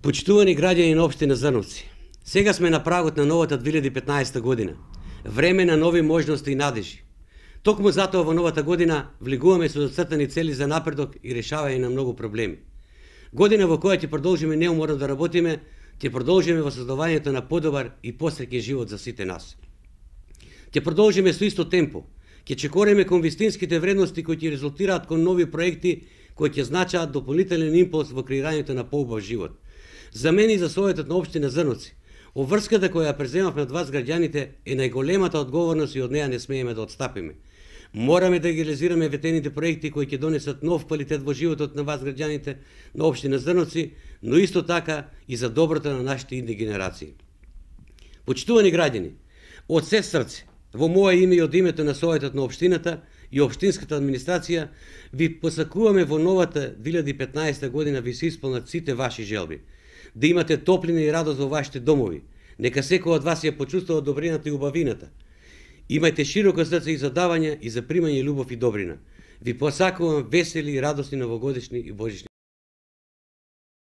Почитувани граѓани на општина Зрновци, сега сме на прагот на новата 2015 година. Време на нови можности и надежи. Токму затоа во новата година влегуваме со зацртани цели за напредок и решавање на многу проблеми. Година во која ќе продолжиме неуморно да работиме, ќе продолжиме во создавањето на подобар и посреќен живот за сите нас. Ќе продолжиме со исто темпо, ќе чекориме кон вистинските вредности кои ќе резултираат кон нови проекти кои ќе значаат дополнителен импулс во креирањето на поубав живот. За мене и за Советот на општина Зрновци, обврската која ја преземавме од вас граѓаните е најголемата одговорност и од неа не смееме да отстапиме. Мораме да ги реализираме ветените проекти кои ќе донесат нов квалитет во животот на вас граѓаните на општина Зрновци, но исто така и за доброто на нашите идни генерации. Почитувани граѓани, од се срце, во мое име и од името на Советот на општината и општинската администрација, ви посакуваме во новата 2015 година ви се исполнат сите ваши желби. Да имате топлина и радост во вашите домови. Нека секој од вас ја почувствува добрината и убавината. Имајте широко срце и за давање и за примање љубов и добрина. Ви посакувам весели и радосни новогодишни и божични